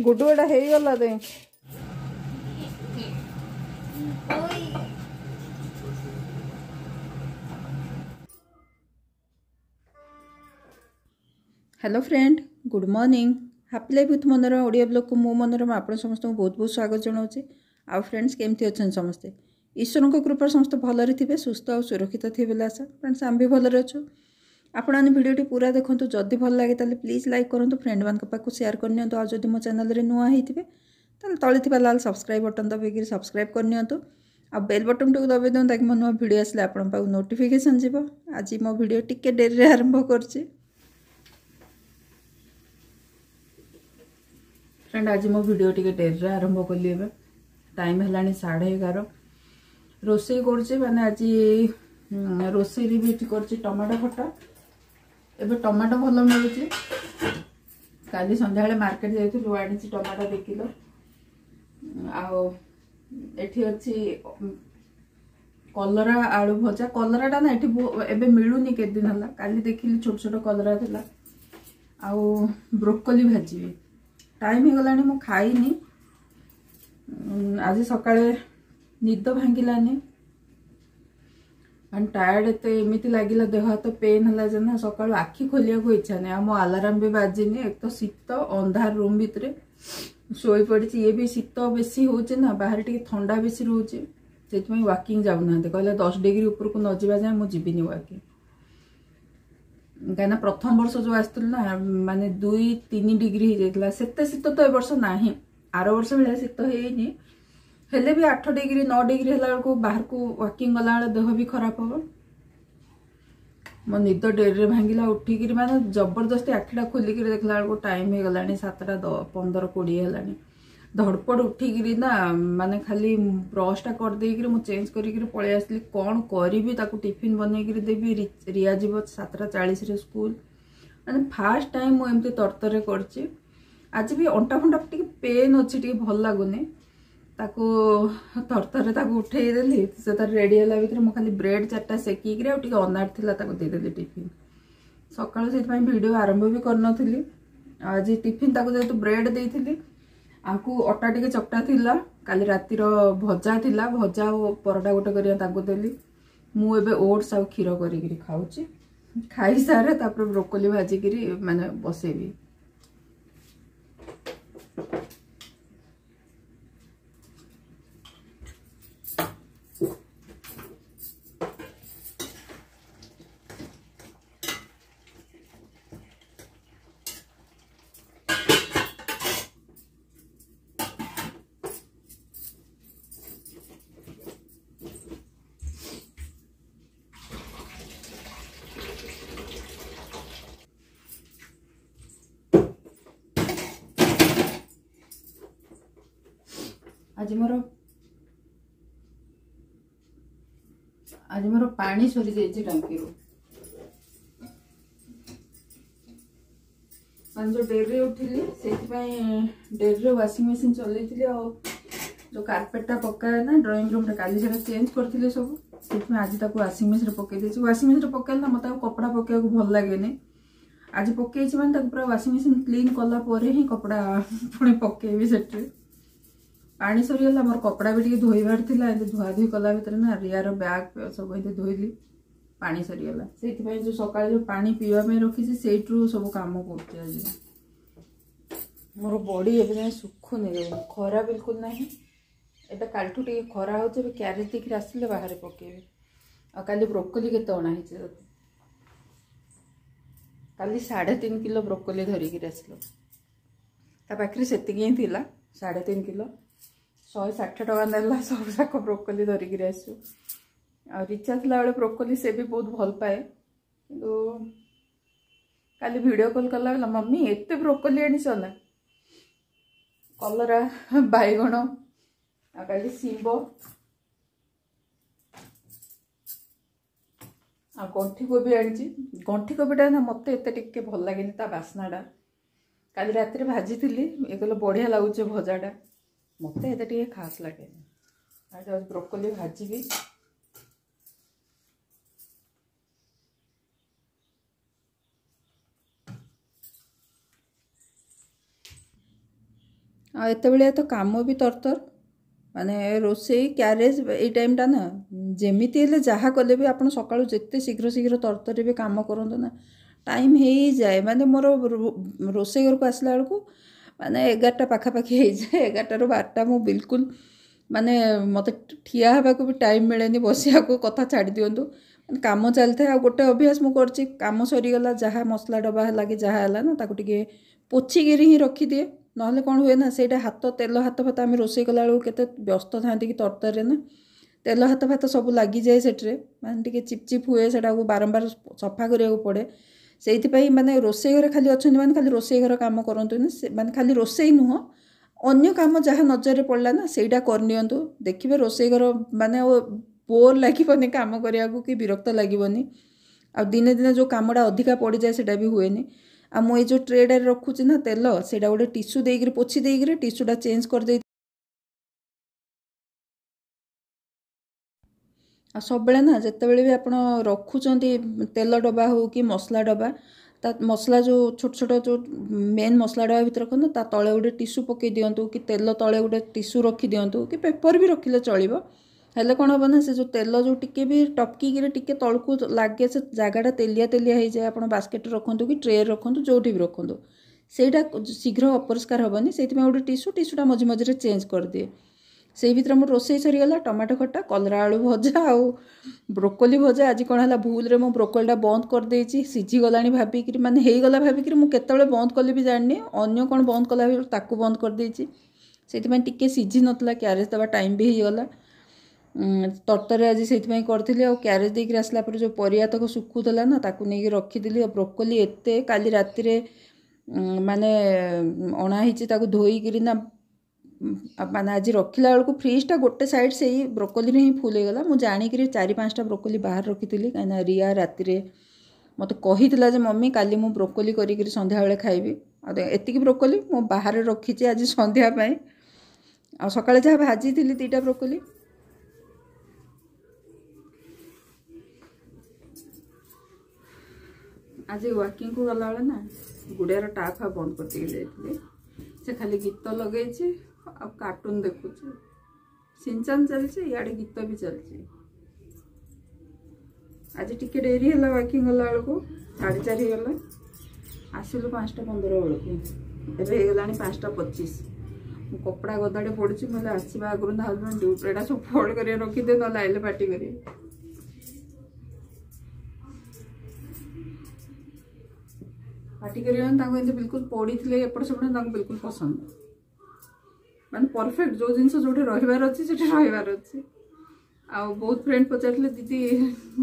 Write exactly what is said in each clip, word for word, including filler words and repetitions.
ଗୁଡୁ ଏଟା ହେଇଗଲା ଦେ। Hello friend, good morning. Happy life with Manorama Odia ବ୍ଲଗ୍କୁ ମୁଁ ମନୋରମା ଆପଣ ସମସ୍ତଙ୍କୁ ବହୁତ ବହୁତ ସ୍ୱାଗତ ଜଣାଉଛି। ଆଉ ଫ୍ରେଣ୍ଡସ୍, କେମିତି ଅଛନ୍ତି ସମସ୍ତେ? ଈଶ୍ୱରଙ୍କ କୃପାରେ ସମସ୍ତେ ଭଲରେ ଥିବେ, ସୁସ୍ଥ ଆଉ ସୁରକ୍ଷିତ ଥିବେ ବୋଲି ଆଶା। ଫ୍ରେଣ୍ଡସ୍, ଆମେ ବି ଭଲରେ ଅଛୁ। ଆପଣମାନେ ଭିଡ଼ିଓଟି ପୁରା ଦେଖନ୍ତୁ। ଯଦି ଭଲ ଲାଗେ ତାହେଲେ ପ୍ଲିଜ୍ ଲାଇକ୍ କରନ୍ତୁ, ଫ୍ରେଣ୍ଡମାନଙ୍କ ପାଖକୁ ସେୟାର କରିନିଅନ୍ତୁ। ଆଉ ଯଦି ମୋ ଚ୍ୟାନେଲରେ ନୂଆ ହେଇଥିବେ ତାହେଲେ ତଳେ ଥିବା ଲାଲ ସବସ୍କ୍ରାଇବ୍ ବଟନ୍ ଦବାଇକିରି ସବସ୍କ୍ରାଇବ୍ କରିନିଅନ୍ତୁ ଆଉ ବେଲ୍ ବଟନ୍ଟିକୁ ଦବାଇ ଦିଅନ୍ତୁ, ତାକି ମୋ ନୂଆ ଭିଡ଼ିଓ ଆସିଲେ ଆପଣଙ୍କ ପାଖକୁ ନୋଟିଫିକେସନ୍ ଯିବ। ଆଜି ମୋ ଭିଡ଼ିଓ ଟିକେ ଡେରିରେ ଆରମ୍ଭ କରୁଛି। ଫ୍ରେଣ୍ଡ, ଆଜି ମୋ ଭିଡ଼ିଓ ଟିକେ ଡେରିରେ ଆରମ୍ଭ କଲି। ଏବେ ଟାଇମ୍ ହେଲାଣି ସାଢ଼େ ଏଗାର। ରୋଷେଇ କରୁଛି, ମାନେ ଆଜି ରୋଷେଇରେ ବି ଏଠି କରୁଛି ଟମାଟୋ ଖଟା। ଏବେ ଟମାଟୋ ଭଲ ମିଳୁଛି। କାଲି ସନ୍ଧ୍ୟାବେଳେ ମାର୍କେଟ ଯାଇଥିଲୁ, ଆଣିଛି ଟମାଟୋ ଦୁଇ କିଲୋ। ଆଉ ଏଠି ଅଛି କଲରା ଆଳୁ ଭଜା। କଲରାଟା ନା ଏଠି ଏବେ ମିଳୁନି, କେତେ ଦିନ ହେଲା। କାଲି ଦେଖିଲି ଛୋଟ ଛୋଟ କଲରା ଥିଲା। ଆଉ ବ୍ରୋକୋଲି ଭାଜିବି। ଟାଇମ୍ ହେଇଗଲାଣି, ମୁଁ ଖାଇନି। ଆଜି ସକାଳେ ନିଦ ଭାଙ୍ଗିଲାନି, ମାନେ ଟାୟାର୍ଡ ଏତେ ଏମିତି ଲାଗିଲା, ଦେହ ହାତ ପେନ୍ ହେଲା ଯେ ନା ସକାଳୁ ଆଖି ଖୋଲିବାକୁ ଇଚ୍ଛା ନାହିଁ। ଆଉ ମୋ ଆଲାରାମ ବି ବାଜିନି। ଏକ ତ ଶୀତ, ଅନ୍ଧାର ରୁମ୍ ଭିତରେ ଶୋଇପଡ଼ିଛି। ଇଏ ବି ଶୀତ ବେଶୀ ହେଉଛି ନା, ବାହାରେ ଟିକେ ଥଣ୍ଡା ବେଶୀ ରହୁଛି, ସେଥିପାଇଁ ୱାକିଂ ଯାଉନାହାନ୍ତି। କହିଲେ ଦଶ ଡିଗ୍ରୀ ଉପରକୁ ନ ଯିବା ଯାଏଁ ମୁଁ ଯିବିନି ୱାକିଂ। କାହିଁକିନା ପ୍ରଥମ ବର୍ଷ ଯେଉଁ ଆସିଥିଲୁ ନା, ମାନେ ଦୁଇ ତିନି ଡିଗ୍ରୀ ହେଇଯାଇଥିଲା। ସେତେ ଶୀତ ତ ଏ ବର୍ଷ ନାହିଁ, ଆର ବର୍ଷ ଭଳିଆ ଶୀତ ହେଇନି। ହେଲେ ବି ଆଠ ଡିଗ୍ରୀ ନଅ ଡିଗ୍ରୀ ହେଲା ବେଳକୁ ବାହାରକୁ ୱାକିଂ ଗଲାବେଳେ ଦେହ ବି ଖରାପ ହବ। ମୋ ନିଦ ଡେରିରେ ଭାଙ୍ଗିଲା। ଉଠିକିରି ମାନେ ଜବରଦସ୍ତି ଆଖିଟା ଖୋଲିକିରି ଦେଖିଲା ବେଳକୁ ଟାଇମ୍ ହେଇଗଲାଣି ସାତଟା ପନ୍ଦର କୋଡ଼ିଏ ହେଲାଣି। ଧଡ଼ପଡ଼ ଉଠିକିରି ନା ମାନେ ଖାଲି ବ୍ରସ୍ଟା କରିଦେଇକିରି ମୁଁ ଚେଞ୍ଜ କରିକିରି ପଳେଇ ଆସିଲି। କ'ଣ କରିବି, ତାକୁ ଟିଫିନ୍ ବନେଇକିରି ଦେବି। ରିଆ ଯିବ ସାତଟା ଚାଳିଶରେ ସ୍କୁଲ। ମାନେ ଫାର୍ଷ୍ଟ ଟାଇମ୍ ମୁଁ ଏମିତି ତରତରରେ କରିଛି। ଆଜି ବି ଅଣ୍ଟା ଫଣ୍ଟା ଟିକେ ପେନ୍ ଅଛି, ଟିକେ ଭଲ ଲାଗୁନି। ତାକୁ ତରତରରେ ତାକୁ ଉଠେଇଦେଲି। ସେ ତାର ରେଡ଼ି ହେଲା ଭିତରେ ମୁଁ ଖାଲି ବ୍ରେଡ୍ ଚାରିଟା ସେକିକିରି ଆଉ ଟିକେ ଅନାର ଥିଲା ତାକୁ ଦେଇଦେଲି ଟିଫିନ୍। ସକାଳୁ ସେଥିପାଇଁ ଭିଡ଼ିଓ ଆରମ୍ଭ ବି କରିନଥିଲି। ଆଜି ଟିଫିନ୍ ତାକୁ ଯେହେତୁ ବ୍ରେଡ୍ ଦେଇଥିଲି, ଆକୁ ଅଟା ଟିକେ ଚକଟା ଥିଲା, କାଲି ରାତିର ଭଜା ଥିଲା, ଭଜା ଆଉ ପରଟା ଗୋଟେ କରିବା ତାକୁ ଦେଲି। ମୁଁ ଏବେ ଓଟ୍ସ ଆଉ କ୍ଷୀର କରିକିରି ଖାଉଛି। ଖାଇସାରେ ତାପରେ ବ୍ରୋକୋଲି ଭାଜିକିରି ମାନେ ବସେଇବି। ଆଜି ମୋର ଆଜି ମୋର ପାଣି ସରିଯାଇଛି ଟାଙ୍କିରୁ। ମାନେ ଯେଉଁ ଡେରିରେ ଉଠିଲି ସେଇଥିପାଇଁ ଡେରିରେ ୱାସିଂ ମେସିନ୍ ଚଲେଇଥିଲି। ଆଉ ଯେଉଁ କାର୍ପେଟଟା ପକାଏ ନା ଡ୍ରଇଂ ରୁମ୍ରେ, କାଲି ସେଇଟା ଚେଞ୍ଜ କରିଥିଲି ସବୁ, ସେଥିପାଇଁ ଆଜି ତାକୁ ୱାସିଂ ମେସିନ୍ରେ ପକେଇ ଦେଇଛି। ୱାସିଂ ମେସିନ୍ରେ ପକେଇଲେ ନା ମୋତେ ଆଉ କପଡ଼ା ପକେଇବାକୁ ଭଲ ଲାଗେନି। ଆଜି ପକେଇଛି ମାନେ ତାକୁ ପୁରା ୱାସିଂ ମେସିନ୍ କ୍ଲିନ୍ କଲା ପରେ ହିଁ କପଡ଼ା ପୁଣି ପକେଇବି ସେଠି। ପାଣି ସରିଗଲା, ମୋର କପଡ଼ା ବି ଟିକେ ଧୋଇବାର ଥିଲା। ଏମିତି ଧୁଆ ଧୁଇ କଲା ଭିତରେ ନା ରିଆର ବ୍ୟାଗ୍ ସବୁ ଏମିତି ଧୋଇଲି, ପାଣି ସରିଗଲା। ସେଇଥିପାଇଁ ଯେଉଁ ସକାଳେ ଯେଉଁ ପାଣି ପିଇବା ପାଇଁ ରଖିଛି ସେଇଠୁ ସବୁ କାମ କରୁଛି। ଆଜି ମୋର ବଡି ଏବେ ଯାଏଁ ଶୁଖୁନି, ଖରା ବିଲକୁଲ ନାହିଁ। ଏବେ କାଲିଠୁ ଟିକେ ଖରା ହେଉଛି। ଏବେ କ୍ୟାରେଜ୍ ଦେଇକିରି ଆସିଲେ ବାହାରେ ପକେଇବି। ଆଉ କାଲି ବ୍ରୋକୋଲି କେତେ ଅଣା ହେଇଛି? କାଲି ସାଢ଼େ ତିନି କିଲୋ ବ୍ରୋକୋଲି ଧରିକିରି ଆସିଲୁ। ତା ପାଖରେ ସେତିକି ହିଁ ଥିଲା, ସାଢ଼େ ତିନି କିଲୋ। ଶହେ ଷାଠିଏ ଟଙ୍କା ନେଲା ସବୁ ଯାକ ବ୍ରୋକୋଲି ଧରିକିରି ଆସୁ। ଆଉ ରିଚା ଥିଲାବେଳେ ବ୍ରୋକୋଲି ସେ ବି ବହୁତ ଭଲ ପାଏ। କିନ୍ତୁ କାଲି ଭିଡ଼ିଓ କଲ୍ କଲା ବେଲା, ମମ୍ମି ଏତେ ବ୍ରୋକୋଲି ଆଣିଛ ନା? କଲରା, ବାଇଗଣ ଆଉ କାଲି ଶିମ୍ବ ଆଉ ଗଣ୍ଠି କୋବି ଆଣିଛି। ଗଣ୍ଠି କୋବିଟା ନା ମୋତେ ଏତେ ଟିକେ ଭଲ ଲାଗେନି, ତା ବାସ୍ନାଟା। କାଲି ରାତିରେ ଭାଜିଥିଲି, ଇଏ କହିଲେ ବଢ଼ିଆ ଲାଗୁଛି ଭଜାଟା, ମୋତେ ଏତେ ଟିକେ ଖାସ୍ ଲାଗେନି। ଆଉ ବ୍ରୋକୋଲି ଭାଜିବି। ଆଉ ଏତେବେଳେ ତ କାମ ବି ତରତର, ମାନେ ରୋଷେଇ କ୍ୟାରେଜ୍ ଏଇ ଟାଇମ୍ଟା ନା ଯେମିତି ହେଲେ ଯାହା କଲେ ବି ଆପଣ ସକାଳୁ ଯେତେ ଶୀଘ୍ର ଶୀଘ୍ର ତରତରରେ ବି କାମ କରନ୍ତୁ ନା ଟାଇମ୍ ହେଇଯାଏ। ମାନେ ମୋର ରୋଷେଇ ଘରକୁ ଆସିଲା ବେଳକୁ ମାନେ ଏଗାରଟା ପାଖାପାଖି ହେଇଯାଏ, ଏଗାରଟାରୁ ବାରଟା ମୁଁ ବିଲକୁଲ ମାନେ ମୋତେ ଠିଆ ହେବାକୁ ବି ଟାଇମ୍ ମିଳେନି, ବସିବାକୁ କଥା ଛାଡ଼ି ଦିଅନ୍ତୁ, ମାନେ କାମ ଚାଲିଥାଏ। ଆଉ ଗୋଟେ ଅଭ୍ୟାସ ମୁଁ କରିଛି, କାମ ସରିଗଲା ଯାହା ମସଲା ଡବା ହେଲା କି ଯାହା ହେଲା ନା ତାକୁ ଟିକେ ପୋଛିକିରି ହିଁ ରଖିଦିଏ, ନହେଲେ କ'ଣ ହୁଏ ନା ସେଇଟା ହାତ ତେଲ ହାତ ଫାତ ଆମେ ରୋଷେଇ କଲାବେଳକୁ କେତେ ବ୍ୟସ୍ତ ଥାନ୍ତି କି ତରତରରେ ନା ତେଲ ହାତ ଫାତ ସବୁ ଲାଗିଯାଏ ସେଠିରେ, ମାନେ ଟିକେ ଚିପଚିପ୍ ହୁଏ, ସେଇଟାକୁ ବାରମ୍ବାର ସଫା କରିବାକୁ ପଡ଼େ। ସେଇଥିପାଇଁ ମାନେ ରୋଷେଇ ଘରେ ଖାଲି ଅଛନ୍ତି ମାନେ ଖାଲି ରୋଷେଇ ଘର କାମ କରନ୍ତୁନି, ସେ ମାନେ ଖାଲି ରୋଷେଇ ନୁହଁ ଅନ୍ୟ କାମ ଯାହା ନଜରରେ ପଡ଼ିଲା ନା ସେଇଟା କରିନିଅନ୍ତୁ। ଦେଖିବେ ରୋଷେଇ ଘର ମାନେ ଆଉ ବୋର୍ ଲାଗିବନି କାମ କରିବାକୁ କି ବିରକ୍ତ ଲାଗିବନି। ଆଉ ଦିନେ ଦିନେ ଯେଉଁ କାମଟା ଅଧିକା ପଡ଼ିଯାଏ ସେଇଟା ବି ହୁଏନି। ଆଉ ମୁଁ ଏଇ ଯେଉଁ ଟ୍ରେଟାରେ ରଖୁଛି ନା ତେଲ, ସେଇଟା ଗୋଟେ ଟିସୁ ଦେଇକିରି ପୋଛି ଦେଇକିରି ଟିସୁଟା ଚେଞ୍ଜ କରିଦେଇ। ଆଉ ସବୁବେଳେ ନା ଯେତେବେଳେ ବି ଆପଣ ରଖୁଛନ୍ତି ତେଲ ଡବା ହେଉ କି ମସଲା ଡବା, ତା ମସଲା ଯେଉଁ ଛୋଟ ଛୋଟ ଯେଉଁ ମେନ୍ ମସଲା ଡବା ଭିତରେ ରଖନ୍ତୁ ତା ତଳେ ଗୋଟେ ଟିସୁ ପକାଇ ଦିଅନ୍ତୁ କି ତେଲ ତଳେ ଗୋଟେ ଟିସୁ ରଖିଦିଅନ୍ତୁ କି ପେପର୍ ବି ରଖିଲେ ଚଳିବ। ହେଲେ କ'ଣ ହେବ ନା ସେ ଯେଉଁ ତେଲ ଯେଉଁ ଟିକେ ବି ଟପକିକିରି ଟିକେ ତଳକୁ ଲାଗେ ସେ ଜାଗାଟା ତେଲିଆ ତେଲିଆ ହେଇଯାଏ। ଆପଣ ବାସ୍କେଟ୍ରେ ରଖନ୍ତୁ କି ଟ୍ରେରେ ରଖନ୍ତୁ ଯେଉଁଠି ବି ରଖନ୍ତୁ ସେଇଟା ଶୀଘ୍ର ଅପରିଷ୍କାର ହେବନି। ସେଇଥିପାଇଁ ଗୋଟେ ଟିସୁ ଟିସୁଟା ମଝି ମଝିରେ ଚେଞ୍ଜ କରିଦିଏ। ସେଇ ଭିତରେ ମୋର ରୋଷେଇ ସରିଗଲା, ଟମାଟୋ ଖଟା, କଲରା ଆଳୁ ଭଜା ଆଉ ବ୍ରୋକୋଲି ଭଜା। ଆଜି କ'ଣ ହେଲା ଭୁଲରେ ମୁଁ ବ୍ରୋକୋଲିଟା ବନ୍ଦ କରିଦେଇଛି, ସିଝିଗଲାଣି ଭାବିକିରି, ମାନେ ହେଇଗଲା ଭାବିକିରି ମୁଁ କେତେବେଳେ ବନ୍ଦ କଲି ବି ଜାଣିନି, ଅନ୍ୟ କ'ଣ ବନ୍ଦ କଲା ତାକୁ ବନ୍ଦ କରିଦେଇଛି, ସେଇଥିପାଇଁ ଟିକେ ସିଝି ନଥିଲା, କ୍ୟାରେଜ୍ ଦେବା ଟାଇମ୍ ବି ହେଇଗଲା। ତରତରରେ ଆଜି ସେଇଥିପାଇଁ କରିଥିଲି। ଆଉ କ୍ୟାରେଜ୍ ଦେଇକିରି ଆସିଲା ପରେ ଯେଉଁ ପରିବା ତକ ଶୁଖୁଥିଲା ନା ତାକୁ ନେଇକି ରଖିଥିଲି। ଆଉ ବ୍ରୋକୋଲି ଏତେ କାଲି ରାତିରେ ମାନେ ଅଣା ହେଇଛି, ତାକୁ ଧୋଇକିରି ନା ମାନେ ଆଜି ରଖିଲା ବେଳକୁ ଫ୍ରିଜ୍ଟା ଗୋଟେ ସାଇଡ଼୍ ସେଇ ବ୍ରୋକୋଲିରେ ହିଁ ଫୁଲ୍ ହେଇଗଲା। ମୁଁ ଜାଣିକିରି ଚାରି ପାଞ୍ଚଟା ବ୍ରୋକୋଲି ବାହାରେ ରଖିଥିଲି, କାହିଁକିନା ରିୟା ରାତିରେ ମୋତେ କହିଥିଲା ଯେ ମମି କାଲି ମୁଁ ବ୍ରୋକୋଲି କରିକିରି ସନ୍ଧ୍ୟାବେଳେ ଖାଇବି। ଆଉ ଏତିକି ବ୍ରୋକୋଲି ମୁଁ ବାହାରେ ରଖିଛି ଆଜି ସନ୍ଧ୍ୟା ପାଇଁ। ଆଉ ସକାଳେ ଯାହା ଭାଜିଥିଲି ଦୁଇଟା ବ୍ରୋକୋଲି। ଆଜି ୱାକିଂକୁ ଗଲାବେଳେ ନା ଗୁଡ଼ିଆର ଟାପ୍ ଫାପ୍ ବନ୍ଦ କରିଦେଇକି ଯାଇଥିଲି, ସେ ଖାଲି ଗୀତ ଲଗେଇଛି ଆଉ କାର୍ଟୁନ୍ ଦେଖୁଛି, ସିନଚାନ୍ ଚାଲିଛି ଇଆଡ଼େ ଗୀତ ବି ଚାଲିଛି। ଆଜି ଟିକେ ଡେରି ହେଲା ୱାକିଂ ଗଲାବେଳକୁ, ସାଢ଼େ ଚାରି ହେଇଗଲା, ଆସିଲୁ ପାଞ୍ଚଟା ପନ୍ଦର ବେଳକୁ, ଏବେ ହେଇଗଲାଣି ପାଞ୍ଚଟା ପଚିଶ। ମୁଁ କପଡ଼ା ଗଦାଡ଼େ ପଡ଼ୁଛି, ମୁଁ ହେଲେ ଆସିବା ଆଗରୁ ନା ହଜବେଣ୍ଡ ଏଇଟା ସବୁ ଫୋଲ୍ଡ କରି ରଖିଦେ, ନହେଲେ ଆଇଲେ ପାଟି କରିବେ। ପାଟି କରିବେ ମାନେ ତାଙ୍କୁ ଏମିତି ବିଲକୁଲ ପଡ଼ିଥିଲେ ଏପଟ ସେପଟ ତାଙ୍କୁ ବିଲକୁଲ ପସନ୍ଦ, ମାନେ ପରଫେକ୍ଟ ଯେଉଁ ଜିନିଷ ଯେଉଁଠି ରହିବାର ଅଛି ସେଠି ରହିବାର ଅଛି। ଆଉ ବହୁତ ଫ୍ରେଣ୍ଡ ପଚାରିଥିଲେ ଦିଦି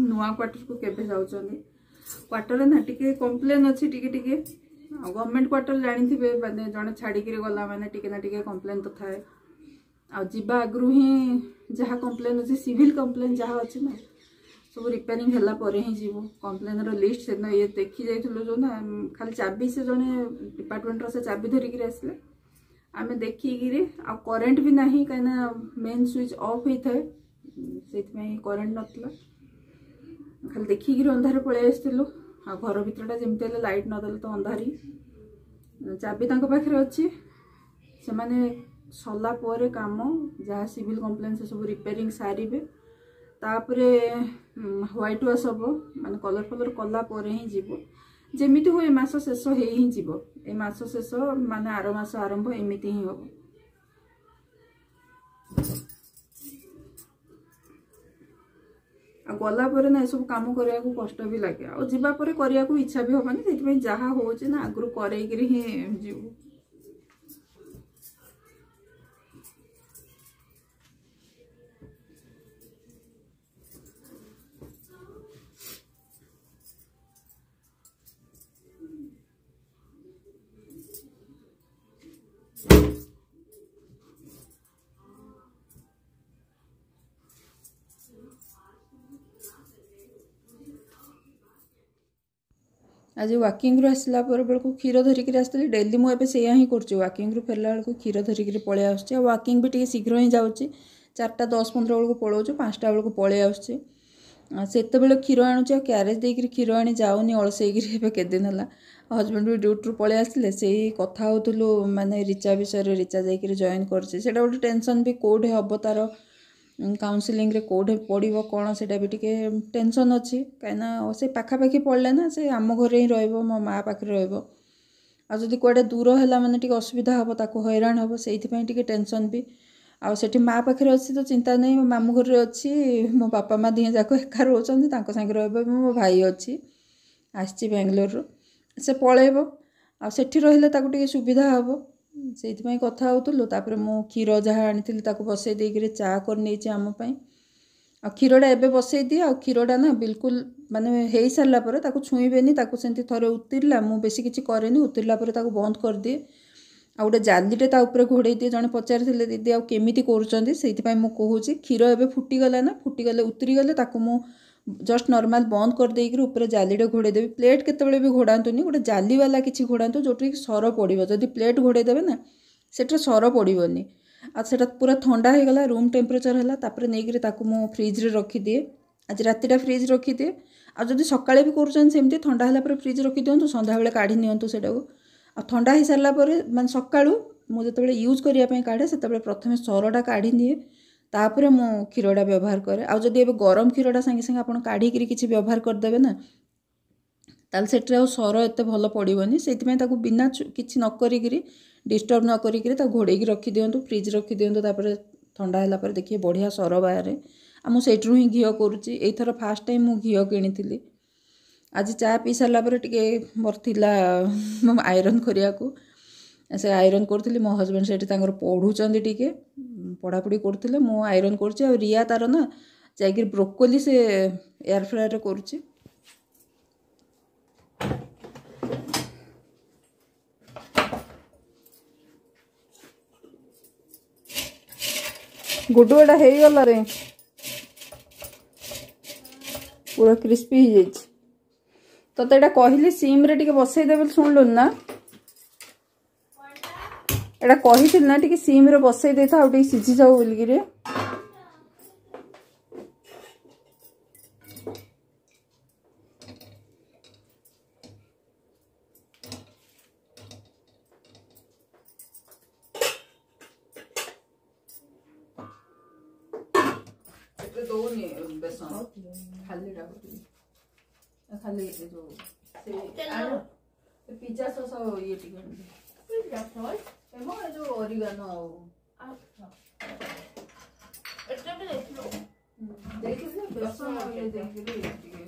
ନୂଆ କ୍ୱାର୍ଟରକୁ କେବେ ଯାଉଛନ୍ତି? କ୍ୱାର୍ଟରରେ ନା ଟିକେ କମ୍ପ୍ଲେନ୍ ଅଛି ଟିକେ ଟିକେ, ଆଉ ଗଭର୍ଣ୍ଣମେଣ୍ଟ କ୍ୱାର୍ଟର ଜାଣିଥିବେ ମାନେ ଜଣେ ଛାଡ଼ିକିରି ଗଲା ମାନେ ଟିକେ ନା ଟିକେ କମ୍ପ୍ଲେନ୍ ତ ଥାଏ। ଆଉ ଯିବା ଆଗରୁ ହିଁ ଯାହା କମ୍ପ୍ଲେନ୍ ଅଛି, ସିଭିଲ୍ କମ୍ପ୍ଲେନ୍ ଯାହା ଅଛି ନା ସବୁ ରିପେୟାରିଂ ହେଲା ପରେ ହିଁ ଯିବୁ। କମ୍ପ୍ଲେନ୍ର ଲିଷ୍ଟ ସେଦିନ ଇଏ ଦେଖି ଯାଇଥିଲୁ ଯେଉଁ ନା ଖାଲି ଚାବି ସେ ଜଣେ ଡିପାର୍ଟମେଣ୍ଟର ସେ ଚାବି ଧରିକିରି ଆସିଲେ, ଆମେ ଦେଖିକିରି। ଆଉ କରେଣ୍ଟ ବି ନାହିଁ, କାହିଁକିନା ମେନ୍ ସୁଇଚ୍ ଅଫ୍ ହେଇଥାଏ, ସେଇଥିପାଇଁ କରେଣ୍ଟ ନଥିଲା, ଖାଲି ଦେଖିକିରି ଅନ୍ଧାରେ ପଳେଇ ଆସିଥିଲୁ। ଆଉ ଘର ଭିତରଟା ଯେମିତି ହେଲେ ଲାଇଟ୍ ନଦେଲେ ତ ଅନ୍ଧାରି। ଚାବି ତାଙ୍କ ପାଖରେ ଅଛି, ସେମାନେ ସରିଲା ପରେ କାମ ଯାହା ସିଭିଲ୍ କମ୍ପ୍ଲେନ୍ ସେ ସବୁ ରିପେୟାରିଂ ସାରିବେ, ତାପରେ ହ୍ୱାଇଟ୍ ୱାଶ୍ ହେବ, ମାନେ କଲର୍ ଫଲର୍ କଲା ପରେ ହିଁ ଯିବୁ। ଯେମିତି ହୁଏ ମାସ ଶେଷ ହେଇ ହିଁ ଯିବ, ଏ ମାସ ଶେଷ ମାନେ ଆର ମାସ ଆରମ୍ଭ ଏମିତି ହିଁ ହେବ। ଆଉ ଗଲା ପରେ ନା ଏସବୁ କାମ କରିବାକୁ କଷ୍ଟ ବି ଲାଗେ, ଆଉ ଯିବା ପରେ କରିବାକୁ ଇଚ୍ଛା ବି ହେବନି, ସେଇଥିପାଇଁ ଯାହା ହେଉଛି ନା ଆଗରୁ କରେଇକିରି ହିଁ ଯିବୁ। ଆଜି ୱାକିଂରୁ ଆସିଲା ପରେ ବେଳକୁ କ୍ଷୀର ଧରିକିରି ଆସିଥିଲି। ଡେଲି ମୁଁ ଏବେ ସେଇଆ ହିଁ କରୁଛି, ୱାକିଂରୁ ଫେରିଲା ବେଳକୁ କ୍ଷୀର ଧରିକିରି ପଳେଇ ଆସୁଛି। ଆଉ ୱାକିଂ ବି ଟିକେ ଶୀଘ୍ର ହିଁ ଯାଉଛି, ଚାରିଟା ଦଶ ପନ୍ଦର ବେଳକୁ ପଳାଉଛୁ, ପାଞ୍ଚଟା ବେଳକୁ ପଳେଇ ଆସୁଛି। ସେତେବେଳେ କ୍ଷୀର ଆଣୁଛି ଆଉ କ୍ୟାରେଜ୍ ଦେଇକିରି କ୍ଷୀର ଆଣି ଯାଉନି ଅଳସେଇକିରି ଏବେ କେତେ ଦିନ ହେଲା। ହଜବେଣ୍ଡ ବି ଡ୍ୟୁଟିରୁ ପଳେଇ ଆସିଲେ, ସେଇ କଥା ହେଉଥିଲୁ ମାନେ ରିଚା ବିଷୟରେ। ରିଚା ଯାଇକିରି ଜଏନ୍ କରିଛି, ସେଇଟା ଗୋଟେ ଟେନସନ୍ ବି, କେଉଁଠି ହେବ ତାର କାଉନସିଲିଂରେ, କେଉଁଠି ପଡ଼ିବ କ'ଣ, ସେଇଟା ବି ଟିକେ ଟେନସନ୍ ଅଛି। କାହିଁକିନା ସେ ପାଖାପାଖି ପଡ଼ିଲେ ନା ସେ ଆମ ଘରେ ହିଁ ରହିବ, ମୋ ମା ପାଖରେ ରହିବ। ଆଉ ଯଦି କୁଆଡ଼େ ଦୂର ହେଲା ମାନେ ଟିକେ ଅସୁବିଧା ହେବ, ତାକୁ ହଇରାଣ ହେବ, ସେଇଥିପାଇଁ ଟିକେ ଟେନସନ୍ ବି। ଆଉ ସେଠି ମା ପାଖରେ ଅଛି ତ ଚିନ୍ତା ନାହିଁ। ମୋ ମାମୁଁ ଘରେ ଅଛି, ମୋ ବାପା ମା ଦିହେଁ ଯାକ ଏକା ରହୁଛନ୍ତି, ତାଙ୍କ ସାଙ୍ଗରେ ରହିବ। ମୋ ଭାଇ ଅଛି, ଆସିଛି ବାଙ୍ଗାଲୋରରୁ, ସେ ପଳେଇବ। ଆଉ ସେଠି ରହିଲେ ତାକୁ ଟିକେ ସୁବିଧା ହେବ, ସେଇଥିପାଇଁ କଥା ହେଉଥିଲୁ। ତାପରେ ମୁଁ କ୍ଷୀର ଯାହା ଆଣିଥିଲି ତାକୁ ବସେଇ ଦେଇକିରି ଚା କରିନେଇଛି ଆମ ପାଇଁ। ଆଉ କ୍ଷୀରଟା ଏବେ ବସେଇ ଦିଏ। ଆଉ କ୍ଷୀରଟା ନା ବିଲକୁଲ ମାନେ ହେଇସାରିଲା ପରେ ତାକୁ ଛୁଇଁବେନି, ତାକୁ ସେମିତି ଥରେ ଉତିରିଲା, ମୁଁ ବେଶୀ କିଛି କରେନି, ଉତିରିଲା ପରେ ତାକୁ ବନ୍ଦ କରିଦିଏ ଆଉ ଗୋଟେ ଜାଲିଟେ ତା ଉପରେ ଘୋଡ଼େଇ ଦିଏ। ଜଣେ ପଚାରିଥିଲେ ଦିଦି ଆଉ କେମିତି କରୁଛନ୍ତି, ସେଇଥିପାଇଁ ମୁଁ କହୁଛି। କ୍ଷୀର ଏବେ ଫୁଟିଗଲା ନା, ଫୁଟିଗଲେ ଉତୁରିଗଲେ ତାକୁ ମୁଁ ଜଷ୍ଟ ନର୍ମାଲ ବନ୍ଦ କରିଦେଇକିରି ଉପରେ ଜାଲିଟେ ଘୋଡ଼େଇ ଦେବି। ପ୍ଲେଟ୍ କେତେବେଳେ ବି ଘୋଡ଼ାନ୍ତୁନି, ଗୋଟେ ଜାଲିବାଲା କିଛି ଘୋଡ଼ାନ୍ତୁ ଯେଉଁଠିକି ସର ପଡ଼ିବ। ଯଦି ପ୍ଲେଟ୍ ଘୋଡ଼େଇ ଦେବେ ନା ସେଠିରେ ସର ପଡ଼ିବନି। ଆଉ ସେଇଟା ପୁରା ଥଣ୍ଡା ହେଇଗଲା, ରୁମ୍ ଟେମ୍ପରେଚର୍ ହେଲା, ତାପରେ ନେଇକିରି ତାକୁ ମୁଁ ଫ୍ରିଜ୍ରେ ରଖିଦିଏ। ଆଜି ରାତିଟା ଫ୍ରିଜ୍ ରଖିଦିଏ। ଆଉ ଯଦି ସକାଳେ ବି କରୁଛନ୍ତି ସେମିତି ଥଣ୍ଡା ହେଲା ପରେ ଫ୍ରିଜ୍ ରଖିଦିଅନ୍ତୁ, ସନ୍ଧ୍ୟାବେଳେ କାଢ଼ି ନିଅନ୍ତୁ ସେଇଟାକୁ। ଆଉ ଥଣ୍ଡା ହେଇସାରିଲା ପରେ ମାନେ ସକାଳୁ ମୁଁ ଯେତେବେଳେ ୟୁଜ୍ କରିବା ପାଇଁ କାଢ଼େ, ସେତେବେଳେ ପ୍ରଥମେ ସରଟା କାଢ଼ି ନିଏ, ତାପରେ ମୁଁ କ୍ଷୀରଟା ବ୍ୟବହାର କରେ। ଆଉ ଯଦି ଏବେ ଗରମ କ୍ଷୀରଟା ସାଙ୍ଗେ ସାଙ୍ଗେ ଆପଣ କାଢ଼ିକିରି କିଛି ବ୍ୟବହାର କରିଦେବେ ନା, ତାହେଲେ ସେଠିରେ ଆଉ ସର ଏତେ ଭଲ ପଡ଼ିବନି। ସେଇଥିପାଇଁ ତାକୁ ବିନା କିଛି ନ କରିକିରି, ଡିଷ୍ଟର୍ବ ନ କରିକିରି ତାକୁ ଘୋଡ଼େଇକି ରଖିଦିଅନ୍ତୁ, ଫ୍ରିଜ୍ ରଖିଦିଅନ୍ତୁ। ତାପରେ ଥଣ୍ଡା ହେଲା ପରେ ଦେଖିବେ ବଢ଼ିଆ ସର ବାହାରେ। ଆଉ ମୁଁ ସେଇଥିରୁ ହିଁ ଘିଅ କରୁଛି। ଏଇଥର ଫାଷ୍ଟ ଟାଇମ୍ ମୁଁ ଘିଅ କିଣିଥିଲି। ଆଜି ଚା ପିଇ ସାରିଲା ପରେ ଟିକେ ମୋର ଥିଲା ଆଇରନ୍ କରିବାକୁ, ସେ ଆଇରନ୍ କରୁଥିଲି। ମୋ ହଜବେଣ୍ଡ ସେଇଠି ତାଙ୍କର ପଢ଼ୁଛନ୍ତି, ଟିକେ ପଢ଼ାପଢ଼ି କରୁଥିଲେ, ମୁଁ ଆଇରନ୍ କରୁଛି। ଆଉ ରିୟା ତାର ନା ଯାଇକିରି ବ୍ରୋକୋଲି ସେ ଏୟାର ଫ୍ରାୟରରେ କରୁଛି। ଗୁଡୁ, ଏଟା ହେଇଗଲା ରେ, ପୁରା କ୍ରିସ୍ପି ହେଇଯାଇଛି। ତତେ ଏଇଟା କହିଲି ସିମ୍ରେ ଟିକେ ବସେଇ ଦେ ବୋଲି, ଶୁଣିଲୁନି ନା? ଏଇଟା କହିଥିଲି ନା ଟିକେ ସିମ୍ରେ ବସେଇ ଦେଇଥା, ଆଉ ଟିକେ ସିଝି ଯାଉ ବୋଲିକିରି। ଦଉନି ବେସନ, ଖାଲିଟା ଖାଲି ଏ ଯୋଉ ସେ ପିଜା ସସ୍ ଆଉ ଇଏ ଟିକେ ଏମ ଏ ଯୋଉ ଅରିଗାନୋ ଆଉ ଦେଇଥିଲି ବେସନ ଆଉ ଇଏ ଦେଇକିରି ଟିକେ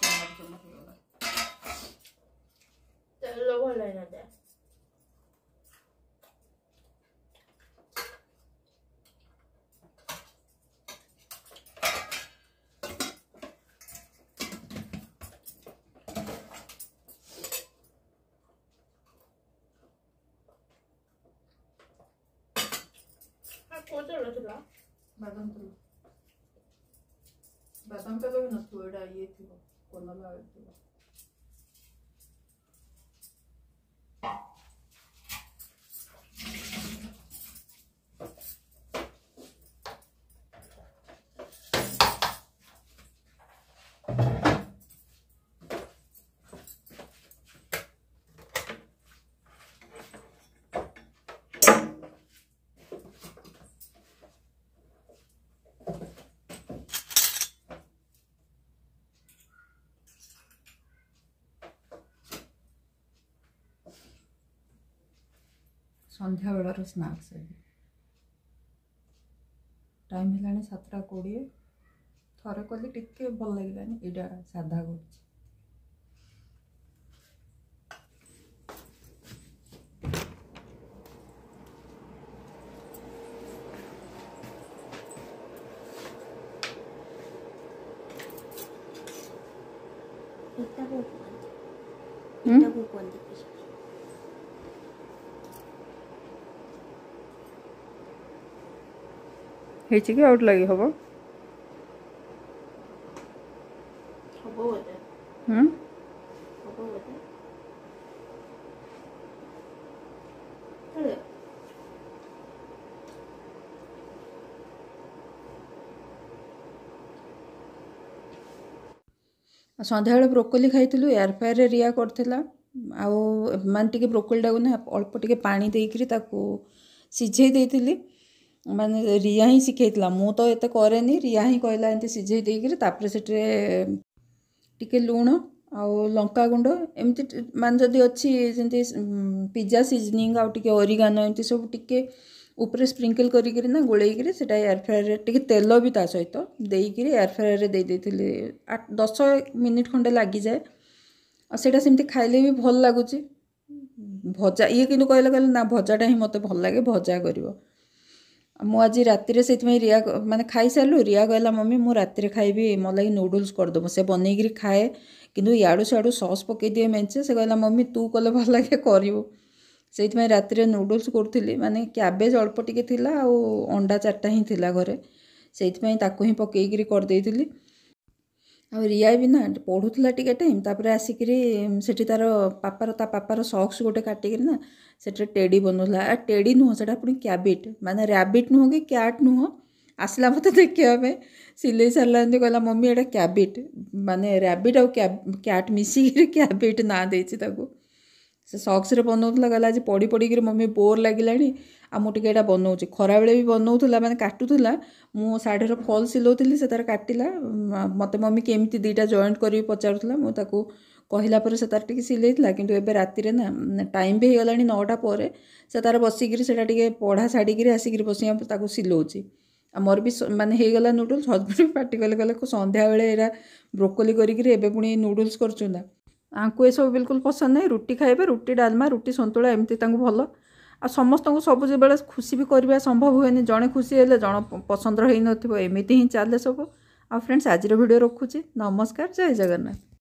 ଚମକ ଚମକ ହେଇଗଲା। ତେଲ ଭଲ ହେଇନଥାଏ। କୋଉ ତେଲ ଥିଲା? ବାଦାମ ତେଲ। ବାଦାମ ତେଲ ବି ନଥିବ, ଏଇଟା ଇଏ ଥିବ, କନଲା ଅଏଲ୍ ଥିବ। ସନ୍ଧ୍ୟାବେଳର ସ୍ନାକ୍ସ ଏବେ। ଟାଇମ୍ ହେଲାଣି ସାତଟା କୋଡ଼ିଏ। ଥରେ କଲି, ଟିକେ ଭଲ ଲାଗିଲାନି, ଏଇଟା ସାଧା କରୁଛି। ଏଟାକୁ କୁହନ୍ତି, ଏଟାକୁ କୁହନ୍ତି ହେଇଛି କି ଆଉ ଲାଗି ହବ? ହବ ବୋଧେ। ହୁଁ, ହବ ବୋଧେ। ହେଲା। ଆଉ ସନ୍ଧ୍ୟାବେଳେ ବ୍ରୋକୋଲି ଖାଇଥିଲୁ, ଏୟାର ଫ୍ରାୟରରେ ରିଆ କରିଥିଲା। ଆଉ ମାନେ ଟିକେ ବ୍ରୋକୋଲିଟାକୁ ନା ଅଳ୍ପ ଟିକେ ପାଣି ଦେଇକରି ତାକୁ ସିଝେଇ ଦେଇଥିଲି, ମାନେ ରିଆ ହିଁ ଶିଖେଇଥିଲା, ମୁଁ ତ ଏତେ କରେନି। ରିଆ ହିଁ କହିଲା ଏମିତି ସିଝେଇ ଦେଇକରି ତାପରେ ସେଠିରେ ଟିକେ ଲୁଣ ଆଉ ଲଙ୍କାଗୁଣ୍ଡ ଏମିତି, ମାନେ ଯଦି ଅଛି ଯେମିତି ପିଜା ସିଜନିଂ ଆଉ ଟିକେ ଅରିଗାନୋ ଏମିତି ସବୁ ଟିକେ ଉପରେ ସ୍ପ୍ରିଙ୍କଲ୍ କରିକିରି ନା ଗୋଳେଇକିରି ସେଇଟା ଏୟାର ଫ୍ରାୟରରେ ଟିକେ ତେଲ ବି ତା ସହିତ ଦେଇକିରି ଏୟାର ଫ୍ରାୟରରେ ଦେଇ ଦେଇଥିଲି। ଆଠ ଦଶ ମିନିଟ୍ ଖଣ୍ଡେ ଲାଗିଯାଏ, ଆଉ ସେଇଟା ସେମିତି ଖାଇଲେ ବି ଭଲ ଲାଗୁଛି। ଭଜା ଇଏ କିନ୍ତୁ କହିଲେ, କହିଲେ ନା ଭଜାଟା ହିଁ ମୋତେ ଭଲ ଲାଗେ, ଭଜା କରିବ। ମୁଁ ଆଜି ରାତିରେ ସେଇଥିପାଇଁ ରିଆ ମାନେ ଖାଇସାରିଲୁ, ରିଆ କହିଲା ମମି ମୁଁ ରାତିରେ ଖାଇବି, ମୋ ଲାଗି ନୁଡ଼ୁଲ୍ସ କରିଦେବୁ। ସେ ବନେଇକିରି ଖାଏ କିନ୍ତୁ ଇଆଡ଼ୁ ସିଆଡ଼ୁ ସସ୍ ପକେଇ ଦିଏ ମେଞ୍ଚେ। ସେ କହିଲା ମମି ତୁ କଲେ ଭଲ ଲାଗେ, କରିବୁ। ସେଇଥିପାଇଁ ରାତିରେ ନୁଡ଼ୁଲ୍ସ କରୁଥିଲି। ମାନେ କ୍ୟାବେଜ୍ ଅଳ୍ପ ଟିକେ ଥିଲା ଆଉ ଅଣ୍ଡା ଚାରିଟା ହିଁ ଥିଲା ଘରେ, ସେଇଥିପାଇଁ ତାକୁ ହିଁ ପକେଇକିରି କରିଦେଇଥିଲି। ଆଉ ରିଆ ବି ନା ପଢ଼ୁଥିଲା ଟିକେ ଟାଇମ୍, ତାପରେ ଆସିକିରି ସେଠି ତାର ପାପାର ତା ପାପାର ସକ୍ସ ଗୋଟେ କାଟିକିରି ନା ସେଠି ଟେଡ଼ି ବନଉଥିଲା। ଆ ଟେଡ଼ି ନୁହଁ, ସେଇଟା ପୁଣି କ୍ୟାବିଟ୍, ମାନେ ରାବିଟ୍ ନୁହଁ କି କ୍ୟାଟ୍ ନୁହଁ। ଆସିଲା ମୋତେ ଦେଖିବା ପାଇଁ, ସିଲେଇ ସାରିଲା ଏମିତି କହିଲା ମମି ଏଇଟା କ୍ୟାବିଟ୍, ମାନେ ରାବିଟ୍ ଆଉ କ୍ୟାଟ୍ ମିଶିକିରି କ୍ୟାବିଟ୍ ନାଁ ଦେଇଛି ତାକୁ। ସେ ସକ୍ସରେ ବନଉଥିଲା, କହିଲା ଆଜି ପଢ଼ି ପଢ଼ିକିରି ମମି ବୋର୍ ଲାଗିଲାଣି, ଆଉ ମୁଁ ଟିକେ ଏଇଟା ବନଉଛି। ଖରାବେଳେ ବି ବନଉଥିଲା, ମାନେ କାଟୁଥିଲା, ମୁଁ ଶାଢ଼ୀର ଫଲ୍ ସିଲଉଥିଲି, ସେ ତାର କାଟିଲା। ମୋତେ ମମି କେମିତି ଦୁଇଟା ଜଏଣ୍ଟ କରିବି ପଚାରୁଥିଲା, ମୁଁ ତାକୁ କହିଲା ପରେ ସେ ତାର ଟିକେ ସିଲେଇଥିଲା। କିନ୍ତୁ ଏବେ ରାତିରେ ନା ଟାଇମ୍ ବି ହେଇଗଲାଣି ନଅଟା ପରେ, ସେ ତାର ବସିକିରି ସେଇଟା ଟିକେ ପଢ଼ା ଛାଡ଼ିକିରି ଆସିକିରି ବସିକି ତାକୁ ସିଲଉଛି। ଆଉ ମୋର ବି ମାନେ ହେଇଗଲା ନୁଡ଼ୁଲ୍ସ। ହଜବେଣ୍ଡ ବି ପାଟି କଲେ, କହିଲେ ସନ୍ଧ୍ୟାବେଳେ ଏଇଟା ବ୍ରୋକୋଲି କରିକିରି ଏବେ ପୁଣି ନୁଡ଼ୁଲ୍ସ କରୁଛୁ ନା। ଆଙ୍କୁ ଏସବୁ ବିଲକୁଲ ପସନ୍ଦ ନାହିଁ। ରୁଟି ଖାଇବେ, ରୁଟି ଡାଲମା, ରୁଟି ସନ୍ତୁଳା ଏମିତି ତାଙ୍କୁ ଭଲ। ଆଉ ସମସ୍ତଙ୍କୁ ସବୁବେଳେ ଖୁସି ବି କରିବା ସମ୍ଭବ ହୁଏନି, ଜଣେ ଖୁସି ହେଲେ ଜଣ ପସନ୍ଦର ହେଇନଥିବ, ଏମିତି ହିଁ ଚାଲେ ସବୁ। ଆଉ ଫ୍ରେଣ୍ଡସ୍, ଆଜିର ଭିଡ଼ିଓ ରଖୁଛି। ନମସ୍କାର, ଜୟ ଜଗନ୍ନାଥ।